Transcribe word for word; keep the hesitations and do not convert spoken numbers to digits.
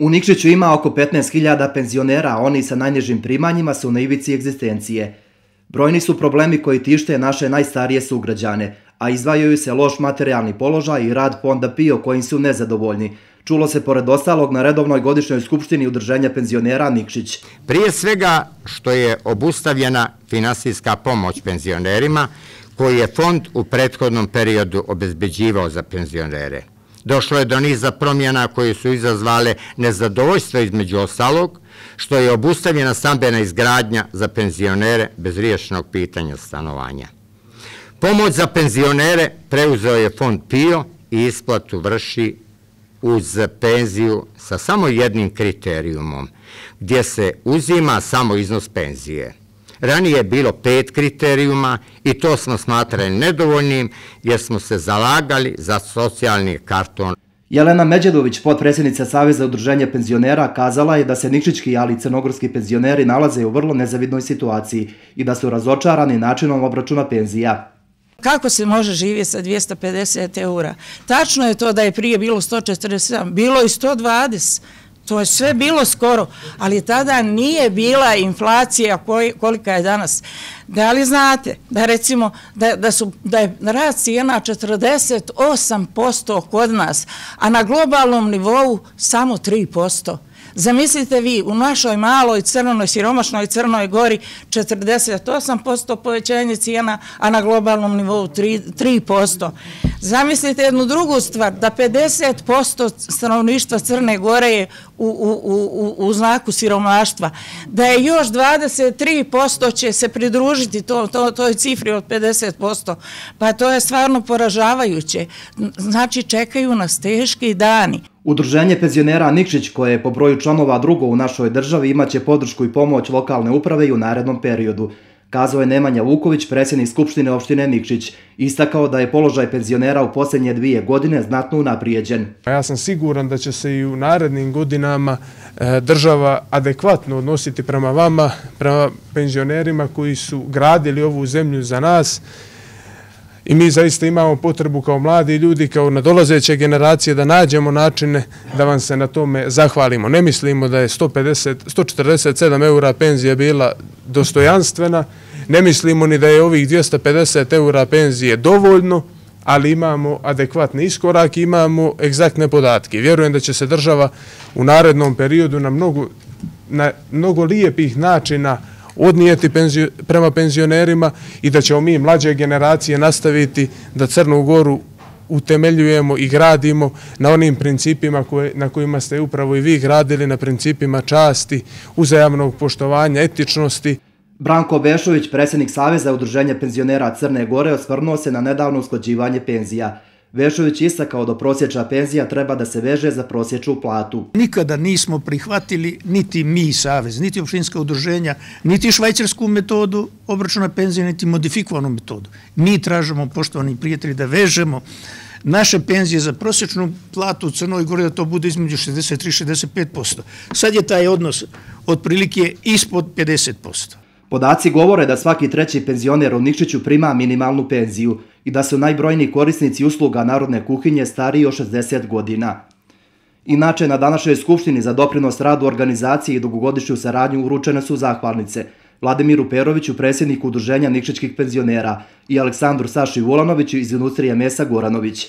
U Nikšiću ima oko petnaest hiljada penzionera, a oni sa najnižim primanjima su na ivici egzistencije. Brojni su problemi koji tište naše najstarije sugrađane, a izdvajaju se loš materijalni položaj i rad fonda PIO kojim su nezadovoljni. Čulo se pored ostalog na redovnoj godišnjoj skupštini Udruženja penzionera Nikšić. Prije svega što je obustavljena finansijska pomoć penzionerima koju je fond u prethodnom periodu obezbeđivao za penzionere. Došlo je do niza promjena koje su izazvale nezadovoljstvo između ostalog, što je obustavljena stambena izgradnja za penzionere bez riješenog pitanja stanovanja. Pomoć za penzionere preuzeo je fond PIO i isplatu vrši uz penziju sa samo jednim kriterijumom, gdje se uzima samo iznos penzije. Ranije je bilo pet kriterijuma i to smo smatrali nedovoljnim jer smo se zalagali za socijalni karton. Jelena Međedović, potpredsjednica Saveza udruženja penzionera, kazala je da se nikšićki, ali i crnogorski penzioneri nalaze u vrlo nezavidnoj situaciji i da su razočarani načinom obračuna penzija. Kako se može živjeti sa dvjesto pedeset eura? Tačno je to da je prije bilo sto četrdeset sedam, bilo i sto dvadeset. To je sve bilo skoro, ali tada nije bila inflacija kolika je danas. Da li znate da recimo da, da, su, da je rast cijena četrdeset osam posto kod nas, a na globalnom nivou samo tri posto. Zamislite vi, u našoj maloj crnoj, siromašnoj Crnoj Gori četrdeset osam posto povećanje cijena, a na globalnom nivou tri posto. Zamislite jednu drugu stvar, da pedeset posto stanovništva Crne Gore je u, u, u, u znaku siromaštva, da je još dvadeset tri posto će se pridružiti to, to, toj cifri od pedeset posto, pa to je stvarno poražavajuće. Znači, čekaju nas teški dani. Udruženje penzionera Nikšić, koje je po broju članova drugo u našoj državi, imaće podršku i pomoć lokalne uprave i u narednom periodu, kazao je Nemanja Vuković, predsjednik Skupštine opštine Nikšić, istakao da je položaj penzionera u posljednje dvije godine znatno unaprijeđen. Ja sam siguran da će se i u narednim godinama država adekvatno odnositi prema vama, prema penzionerima koji su gradili ovu zemlju za nas. I mi zaista imamo potrebu kao mladi ljudi, kao nadolazeće generacije da nađemo načine da vam se na tome zahvalimo. Ne mislimo da je sto pedeset, sto četrdeset sedam eura penzija bila dostojanstvena, ne mislimo ni da je ovih dvjesto pedeset eura penzije dovoljno, ali imamo adekvatni iskorak i imamo egzaktne podatke. Vjerujem da će se država u narednom periodu na mnogo, na mnogo lijepih načina odnijeti penzio, prema penzionerima i da ćemo mi mlađe generacije nastaviti da Crnu Goru utemeljujemo i gradimo na onim principima koje, na kojima ste upravo i vi gradili, na principima časti, uzajamnog poštovanja, etičnosti. Branko Bešović, predsjednik Saveza udruženja penzionera Crne Gore, osvrnuo se na nedavno usklađivanje penzija. Vešović istakao da prosječna penzija treba da se veže za prosječnu platu. Nikada nismo prihvatili, niti mi Savez, niti opštinska udruženja, niti švajcarsku metodu obračuna penzije, niti modifikovanu metodu. Mi tražimo, poštovani prijatelji, da vežemo naše penzije za prosječnu platu u Crnoj Gori, da to bude između šezdeset tri do šezdeset pet posto. Sad je taj odnos otprilike ispod pedeset posto. Podaci govore da svaki treći penzioner u Nikšiću prima minimalnu penziju i da su najbrojniji korisnici usluga narodne kuhinje stariji od šezdeset godina. Inače, na današnjoj skupštini za doprinos radu organizacije i dugogodišnju saradnju uručene su zahvalnice Vladimiru Peroviću, predsjedniku udruženja nikšićkih penzionera, i Aleksandru Saši Vulanoviću iz industrije mesa Goranović.